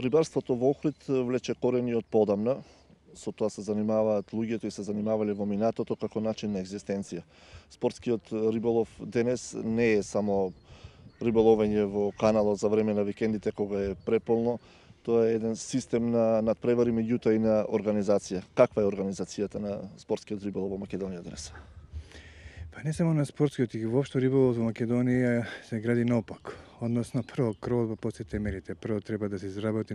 Рибарството во Охрид влече корени од подамна. Со тоа се занимаваат луѓето и се занимавале во минатото како начин на екзистенција. Спортскиот риболов денес не е само риболовење во каналот за време на викендите кога е преполно. Тоа е еден систем на надпревари, меѓутоа и на организација. Каква е организацијата на спортскиот риболов во Македонија денес? Па не само на спортскиот, и воопшто риболов во Македонија се гради наопако. Односно, прво кровот, па после темелите. Прво треба да се изработи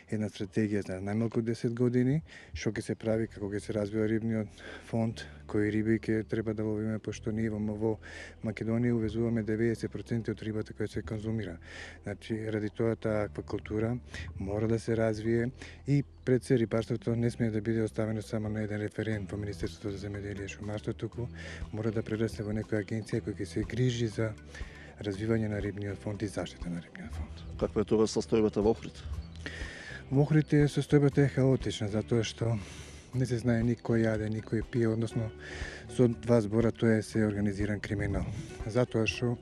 една стратегија за најмалку 10 години, што ќе се прави, како ќе се развива рибниот фонд, кои риби ќе треба да ловиме, пошто ние во Македонија увезуваме 90% од рибата која се конзумира. Значи, ради тоа таа аквакултура мора да се развие и пред се рибарството не смее да биде оставено само на еден референт во Министерството за земјоделие и шумарство, туку мора да прерасне во некоја агенција која ќе се грижи за развивање на рибниот фонд и заштита на рибниот фонд. Каква е тоа состојбата во Охрид? Во Охрид состојбата е хаотична, затоа што не се знае никој јаде, никој пие, односно со два збора тоа се организиран криминал. Затоа што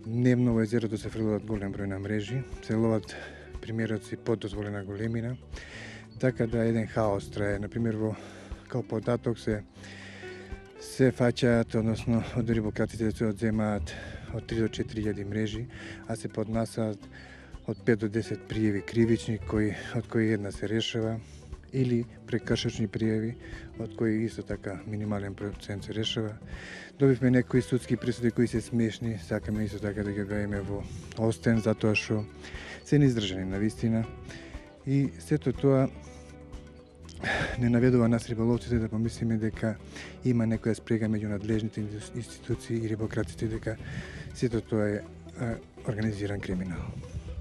дневно во езерото се фрлуваат голем број на мрежи, се ловат примероци под дозволена големина, така да еден хаос трае. Например, као податок се фаќаат, односно од рибократите се одземаат од 3 до 4.000 мрежи, а се поднасаат од 5 до 10 пријави кривични, од кои една се решава, или прекршачни пријави, од кои исто така минимален процент се решава. Добивме некои судски пресуди кои се смешни, сакаме исто така да ги објавиме во Остен, затоа што се неиздржани на вистина. И сето тоа не наведува нас риболовците да помислиме дека има некоја спрега меѓу надлежните институции и рибократите, дека сето тоа е организиран криминал.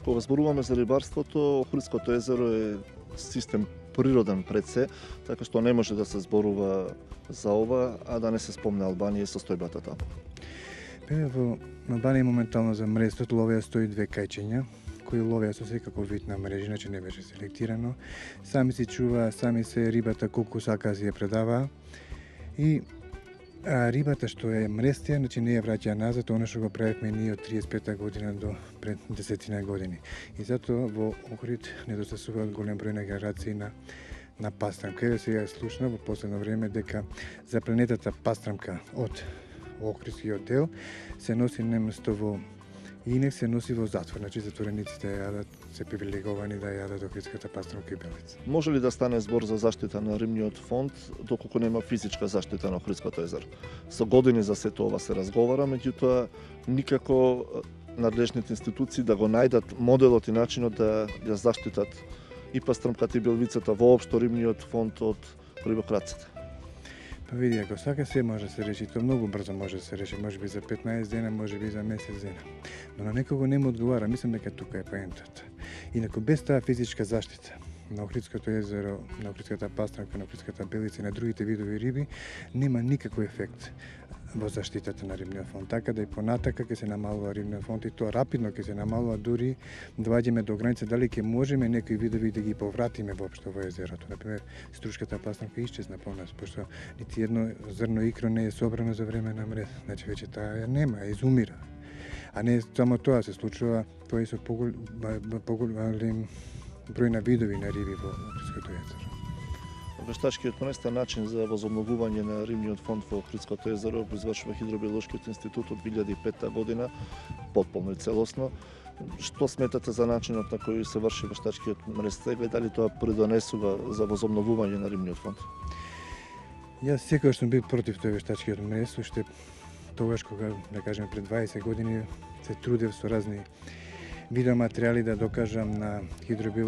Кога зборуваме за рибарството, Охридското езеро е систем природен пред се, така што не може да се зборува за ова, а да не се спомне Албанија и состојбата таму. Во Албанија моментално за мрестот ловеа 102 кајчиња, кои ловеа со секаков вид на мрежи, значи не беше селектирано. Сами си чуваа, сами се рибата колку сака си ја предаваа. И рибата што е мрестија, значи не ја враќаа назад, она што го правевме ние од 35-та година до пред 10 години. И затоа во Охрид недостасуваат голем број на генерации на пастрамка. Еве сега е слушна во последно време дека за планетата пастрамка од Охридскиот дел се носи неместо во инек, се носи во затвор, значи затворениците јадат, се привилеговани да јадат охридската пастрамка и белица. Може ли да стане збор за заштита на рибниот фонд доколку нема физичка заштита на Охридското езеро? Со години за сето ова се разговара, меѓутоа никако надлежните институции да го најдат моделот и начинот да ја заштитат и пастрамката и белвицата, воопшто рибниот фонд од рибокраците. Па види, ако сака се може да се реши, тоа многу брзо може да се реши, можеби за 15 дена, можеби за месец дена. Но на некого не му одговара, мислам дека тука е поентата. Инаку без таа физичка заштита на Охридското езеро, на Охридската пастрамка, на Охридската белица и на другите видови риби, нема никаков ефект во заштитата на рибниот фонд. Така да и понатака ќе се намалува рибниот фонд и тоа рапидно ќе се намалува, дури доаѓаме до граница дали ќе можеме некои видови да ги повратиме воопшто во езерото. Например, струшката пастрамка исчезна по нас, пошто нити едно зрно икро не е собрано за време на мрез. Значи веќе таа нема, изумира. А не само тоа се случува, тоа и со поголем број на видови на риби во Охридското езеро. Вештачкиот пренестен начин за возобновување на рибниот фонд во Охридското езеро го извршува Хидробиолошкиот институт од 2005 година, потполно и целосно. Што сметате за начинот на кој се врши вештачкиот пренестег, дали тоа придонесува за возобновување на рибниот фонд? Јас секогаш сум бил против тој вештачкиот мрез, уште тогаш кога, да кажеме, пред 20 години се трудев со разни видеоматеријали да докажам на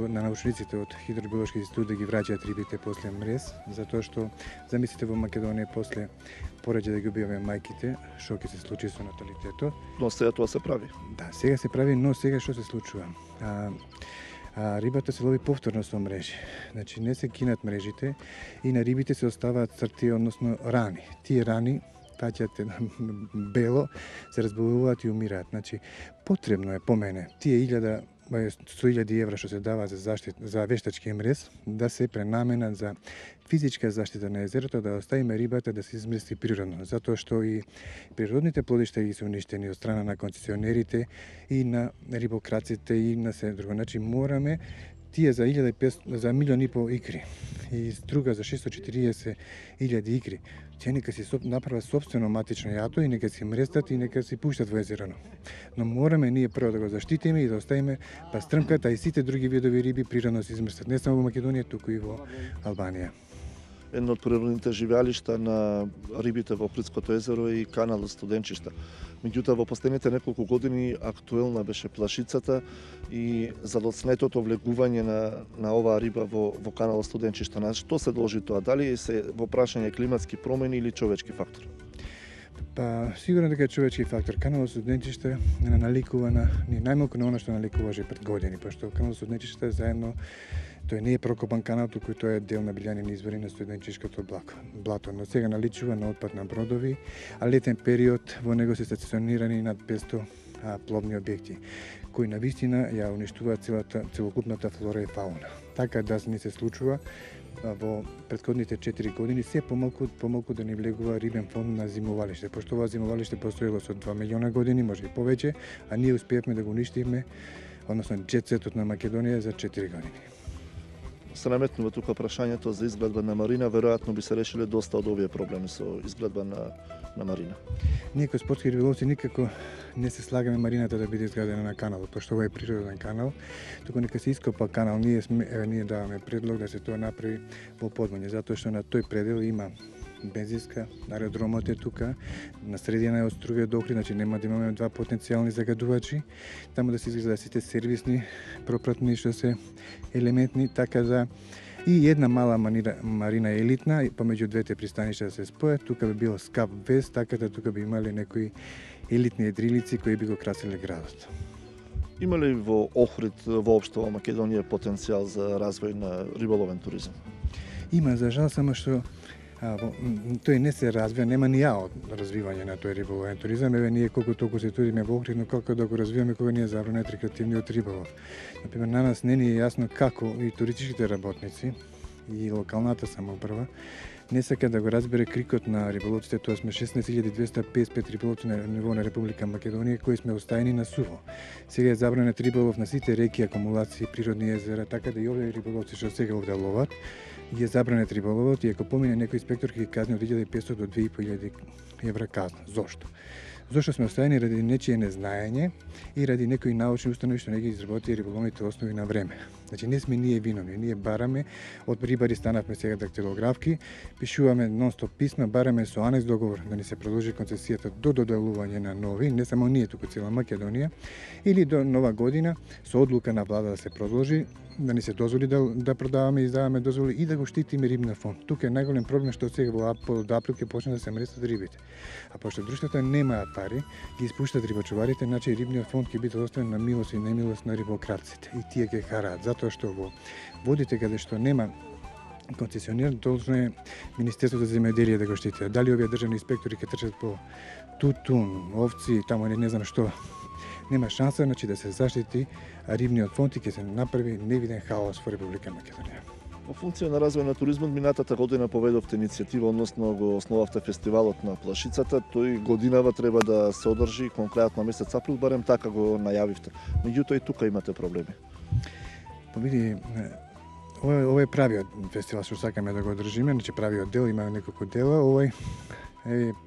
научниците од Хидробиолошки институт да ги враќаат рибите после мрез, затоа што замислите во Македонија после пораѓа да ги убиваме мајките, што ќе се случи со наталитетот. Но сега тоа се прави. Да, сега се прави, но сега што се случува? Рибата се лови повторно со мрежи. Значи не се кинат мрежите и на рибите се оставаат црти, односно рани. Тие рани фаќате бело, се разболуваат и умираат. Значи, потребно е по мене тие 100.000 евра што се дава за вештачки мрез да се пренаменат за физичка заштита на езерото, да оставиме рибата да се измести природно, затоа што и природните плодишта ги се уништени од страна на концесионерите и на рибокраците и на се друго. Значи, мораме тие за 1.500 за 1.500.000 икри и друга за 640.000 икри. Тие нека си направат собствено матично јато и нека си мрестат и нека си пуштат во езерано. Но мораме ние прво да го заштитиме и да оставиме пастрмката и сите други видови риби природно се измрстат, не само во Македонија, туку и во Албанија. Едно од природните живеалишта на рибите во Охридското езеро е и каналот Студенчишта. Меѓутоа, во последните неколку години актуелна беше плашицата и задоцнетото влегување на оваа риба во каналот Студенчишта. На што се должи тоа? Дали се во прашање климатски промени или човечки фактор? Па, сигурно дека е човечки фактор. Каналот Студенчишта наликува најмалку на она што наликуваше пред години, пошто каналот Студенчишта е заедно. Тој не е прокопан канал, туку тој е дел на билјанини извори на студенчишкото блато. Но сега наличува на отпад на бродови, а летен период во него се стационирани над 500 пловни објекти, кои навистина ја уништуваат целокупната флора и фауна. Така да не се случува во претходните 4 години се помалку да не влегува рибен фонд на зимовалиште, пошто ова зимовалиште постоело со 2 милиона години, може и повеќе, а ние успеевме да го уништиме, односно джетсетот на Македонија за 4 години. Се наметнува тука прашањето за изградба на марина, веројатно би се решиле доста од овие проблеми со изградба на марина. Ние како спортски риболовци никако не се слагаме марината да биде изградена на каналот, пошто ова е природен канал, туку нека се ископа канал. Ние даваме предлог да се тоа направи во подмоње, затоа што на тој предел има бензинска, аеродромот е тука, на средина е од Струвија до Охрид, значи нема да имаме два потенцијални загадувачи, таму да се изгледа сите сервисни, пропратни што се елементни, така да и една мала марина елитна, помеѓу двете пристаништа да се спојат, тука би бил Скап Вест, така да тука би имале некои елитни едрилици кои би го красиле градот. Има ли во Охрид, воопшто во Македонија, потенцијал за развој на риболовен туризам? Има, за жал, само што тој не се развива, нема ни ја од развивање на тој риболовен туризам. Еве ние колку толку се туриме во Охрид, но колку да го развиваме кога ние забранет рекреативниот риболов. Например, на нас не ни е јасно како и туристичките работници и локалната самоуправа не сака да го разбере крикот на риболовците, тоа сме 16.255 риболовци на ниво на Република Македонија кои сме оставени на суво. Сега е забранет риболов на сите реки, акумулации, природни езера, така да и овие риболовци што сега овде ловат ги е забранет риболовот и ако помине некој инспектор ќе ги казни од 1.500 до 2.500 евра казна. Зошто? Зошто сме оставени ради нечие незнаење и ради некои научни установи што не ги изработи риболовните основи на време. Значи не сме ние виновни, ние бараме од рибари, станавме сега дактилографки, пишуваме нон-стоп писма, бараме со анекс договор да ни се продолжи концесијата до доделување на нови, не само ние, туку цела Македонија, или до нова година со одлука на влада да се продолжи, да ни се дозволи да продаваме и издаваме дозволи и да го штитиме рибна фонд. Тука е најголем проблем што сега во април ќе почне да се мрестат рибите. А пошто друштвата немаат пари, ги испуштат рибачуварите, значи рибниот фонд ќе биде оставен на милост и немилост на рибократците. И тие ќе хараат, затоа што во водите каде што нема концесионер, должно е Министерството за земјоделие да го штити. Дали овие државни инспектори ќе трчат по тутун, овци, таму не знам што, нема шанса, значи да се заштити рибниот фонд и ќе се направи невиден хаос во Република Македонија. Во функција на развој на туризмот, минатата година поведовте иницијатива, односно го основавте фестивалот на плашицата. Тој годинава треба да се одржи конкретно месец април, барем така го најавивте. Меѓутоа и тука имате проблеми. Види, ова е правиот фестивал што сакаме да го одржиме, значи правиот дел, има неколку дела. Овој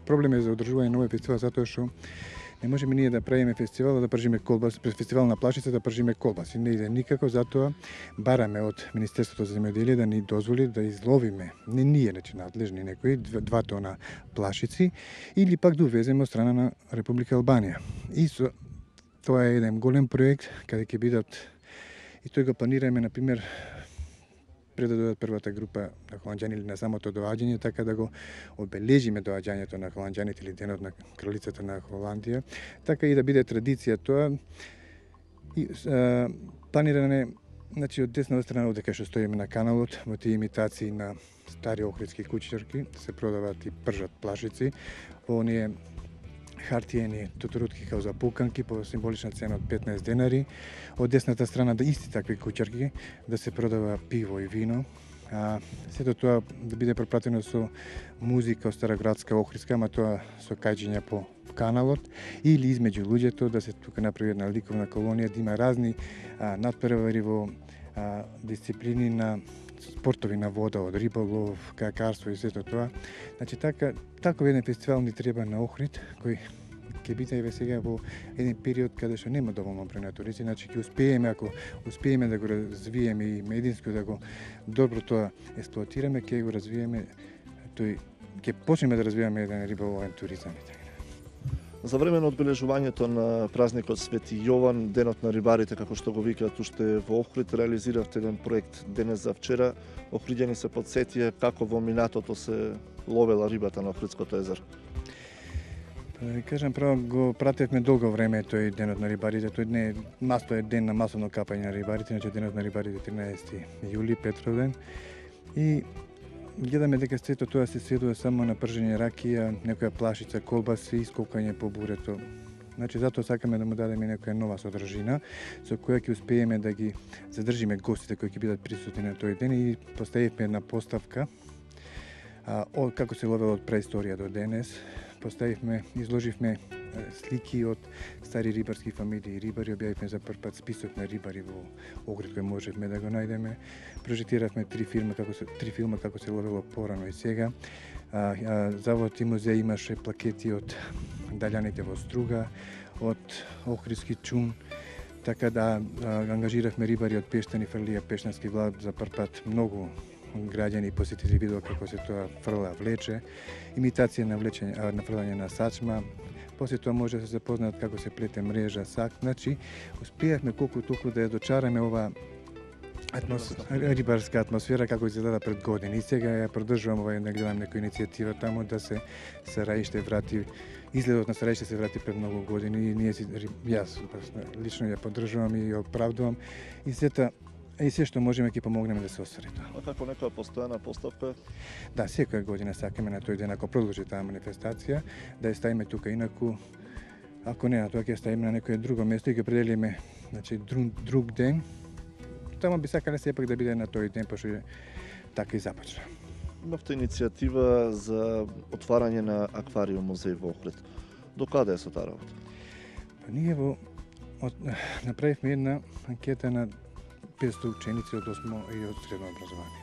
проблем е за одржување на овој фестивал затоа што не можеме ние да правиме фестивал да пржиме колбаси, пред фестивал на плашица да пржиме колбаси. Не иде никако, затоа бараме од Министерството за земјоделие да ни дозволи да изловиме, не ние, значи надлежни некои, 2 тона плашици или пак да увеземе од страна на Република Албанија. И тоа е еден голем проект каде ќе бидат и тој го планираме, например, пред да дојдат првата група на холанѓани или на самото доаѓање, така да го обележиме доаѓањето на холанѓаните или денот на кралицата на Холандија, така и да биде традиција тоа. И планиране, значи од деснава страна овде кај што стоиме на каналот, во тие имитации на стари охридски кучерки, се продаваат и пржат плашици, во оние хартиени тутурутки као за пуканки по символична цена од 15 денари. Од десната страна да исти такви кучерки да се продава пиво и вино. Сето тоа да биде пропратено со музика од староградска охридска, ама тоа со кајџења по каналот или измеѓу луѓето да се тука направи една ликовна колонија, да има разни натпревари во дисциплини на спортови на вода, од риболов, кајакарство и сето тоа. Значи таков еден фестивал ни треба на Охрид, кој ќе биде еве сега во еден период каде што нема доволно број на туристи, значи ќе успееме, ако успееме да го развиеме и мединско да го добро тоа експлоатираме, ќе го развиеме тој, ќе почнеме да развиваме еден риболовен туризам и така. За време на одбележувањето на празникот Свети Јован, денот на рибарите, како што го викаат уште во Охрид, реализиравте еден проект денес за вчера. Охриѓани се потсетија како во минатото се ловела рибата на Охридското езеро. Да ви кажам, право го пратевме долго време тој денот на рибарите. Тој не е ден на масовно капање на рибарите, значи денот на рибарите 13 јули, Петровден. И гледаме дека сето тоа се сведува само на пржење ракија, некоја плашица, колбаси, исколкање по бурето. Значи затоа сакаме да му дадеме некоја нова содржина со која ќе успееме да ги задржиме гостите кои ќе бидат присутни на тој ден и поставивме една поставка како се ловело од преисторија до денес. Изложивме слики од стари рибарски фамилии и рибари, објавивме за прв пат список на рибари во Охрид кој можевме да го најдеме. Прожектиравме три филма како се ловело порано и сега. Завод и музеј имаше плакети од далјаните во Струга, од Охридски чум, така да ангажиравме рибари од Пештани, фрлија Пештански влад за прв пат. Многу граѓани посетили видео како се тоа фрла влече, имитација на фрлање на сачма. После тоа може да се запознаат како се плете мрежа, сак. Значи, успеавме колку толку да ја дочараме ова рибарска атмосфера како изгледа пред години. И сега ја продолжувам да гледам некоја иницијатива таму да се Сараиште врати. Изгледот на Сараиште се врати пред многу години и јас лично ја поддржувам и ја оправдувам. И се што можеме ќе помогнеме да се оствари тоа. А како некоја постојана поставка? Да, секоја година сакаме на тој ден, ако продолжи таа манифестација, да ја ставиме тука, инаку ако не на тоа ќе ставиме на некој друго место и ќе определиме, значи друг ден. Таму би сакале сепак да биде на тој ден, пошто така и започна. Имавте иницијатива за отварање на аквариум музеј во Охрид. До каде е со таа работа? Ние направивме една анкета на 500 ученици од 8 и од средно образование.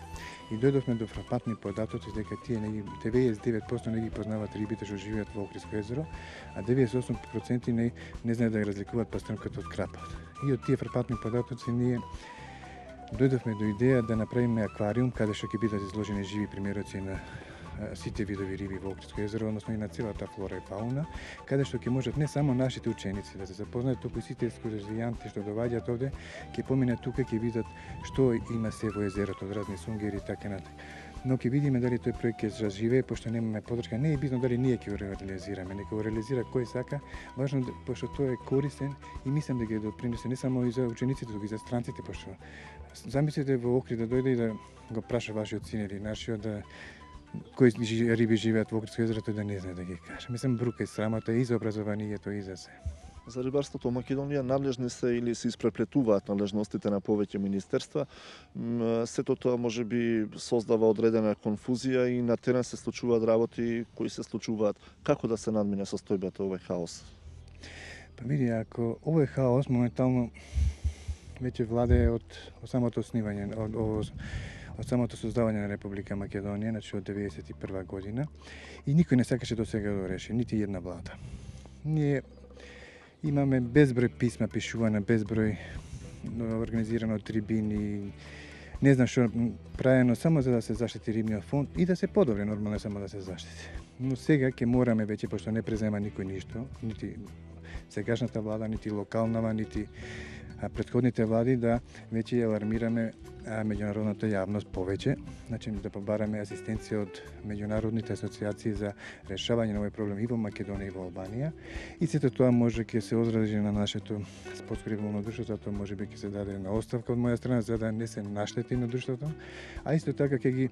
И дојдовме до фрапантни податоци дека тие 99% не ги познаваат рибите што живеат во Охридско езеро, а 98% не знаат да ги разликуваат пастрнката од крапот. И од тие фрапантни податоци ние дојдовме до идеја да направиме аквариум каде што ќе бидат изложени живи примероци на сите видови риби во Охридско езеро, односно и на целата флора и фауна, каде што ќе можат не само нашите ученици да се запознаат, туку и сите екскурзијанти што доаѓаат овде, ќе поминат тука, ќе видат што има се во езерото, од разни сунгери и така натаму. Но ќе видиме дали тој проект ќе заживее, пошто немаме поддршка. Не е битно дали ние ќе го реализираме, нека го реализира кој сака, важно пошто тој е корисен и мислам да ги допринесе не само и за учениците, туку и за странците, пошто замислете во Охрид да дојде и да го праша вашиот син или нашиот да кои риби живеат во Охридско езеро, тој да не знае да ги каже. Мислам, брука и срамота и за образованието и за се. За рибарството во Македонија надлежни се или се испреплетуваат надлежностите на повеќе министерства. Сето тоа можеби создава одредена конфузија и на терен се случуваат работи кои се случуваат. Како да се надмине состојбата овој хаос? Па види, ако овој хаос моментално веќе владее од самото основање, од самото создавање на Република Македонија, значи од 1991 година, и никој не сакаше до сега да реши, нити една влада. Ние имаме безброј писма пишувана, безброј организирано трибини, не знам што правено само за да се заштити рибниот фонд и да се подобри, нормално само да се заштити. Но сега ќе мораме веќе, пошто не презема никој ништо, нити сегашната влада, нити локалнава, нити претходните влади, да веќе ја алармираме меѓународната јавност повеќе, значи да побараме асистенција од меѓународните асоциации за решавање на овој проблем и во Македонија и во Албанија. И сето тоа може ќе се одрази на нашето спортско риболовно друштво, затоа можеби ќе се даде една оставка од моја страна за да не се наштети на друштвото, а исто така ќе ги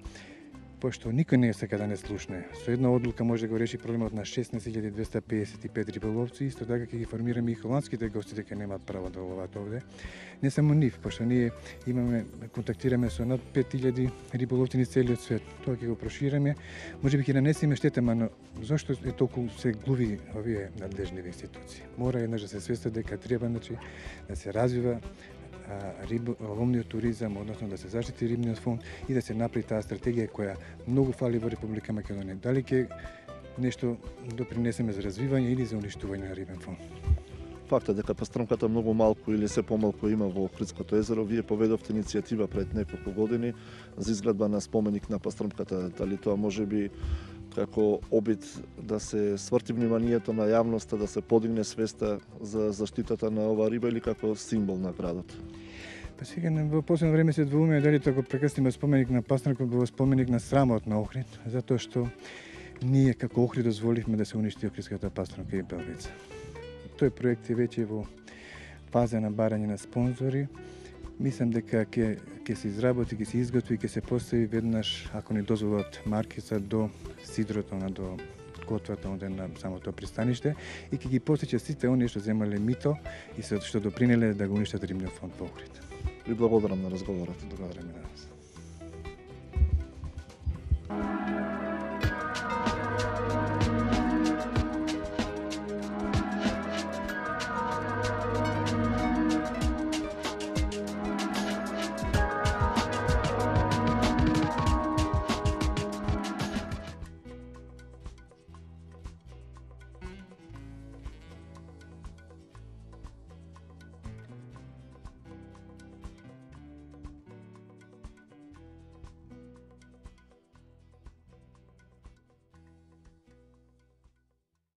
пошто никој не сака да не слушне. Со една одлука може да го реши проблемот на 16.255 риболовци, исто така ќе ги формираме и холандските гости дека немаат право да ловат овде. Не само нив, пошто ние контактираме со над 5000 риболовци низ целиот свет. Тоа ќе го проширеме, можеби ќе нанесеме штета, но зошто е толку се глуви овие надлежни институции? Мора еднаш да се свестат дека треба да се развива ловниот туризам, односно да се заштити рибниот фонд и да се направи таа стратегија која многу фали во Република Македонија. Дали ќе нешто допринесеме за развивање или за уништување на рибен фонд? Фактот дека пастрмката многу малку или се помалку има во Охридското езеро, вие поведовте иницијатива пред неколку години за изградба на споменик на пастрмката. Дали тоа може би како обид да се сврти вниманието на јавноста, да се подигне свеста за заштитата на оваа риба или како символ на градот? Па сега во последно време се двоумеме дали тоа го прекрстиме споменик на пастрмка во споменик на срамот на Охрид, затоа што ние како Охрид дозволивме да се уништи охридската пастрмка и белвица. Тој проект е веќе во фаза на барање на спонзори. Мислам дека ќе се изработи, ќе се изготви и ќе се постави веднаш, ако ни дозволат маркица до сидрото, до котвата на самото пристаниште и ќе ги потиче сите оние што земале мито и што допринеле да го уништат рибниот фонд во Охрид. Ви благодарам на разговорот. Благодарам и на вас.